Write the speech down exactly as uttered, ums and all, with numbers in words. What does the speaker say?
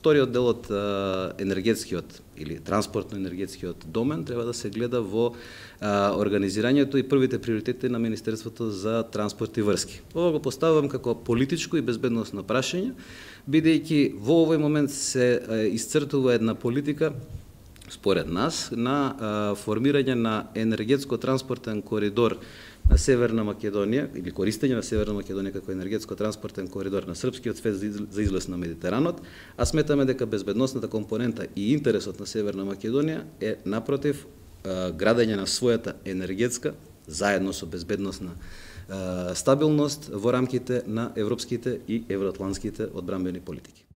вториот дел од енергетскиот или транспортно-енергетскиот домен треба да се гледа во а, организирањето и првите приоритети на Министерството за транспорт и врски. Ова го поставувам како политичко и безбедносно прашање, бидејќи во овој момент се а, исцртува една политика според нас на а, формирање на енергетско-транспортен коридор на Северна Македонија или користење на Северна Македонија како енергетско-транспортен коридор на српскиот свет за излез на Медитеранот, а сметаме дека безбедносната компонента и интересот на Северна Македонија е напротив градење на својата енергетска заедно со безбедносна стабилност во рамките на европските и евроатлантските одбранбени политики.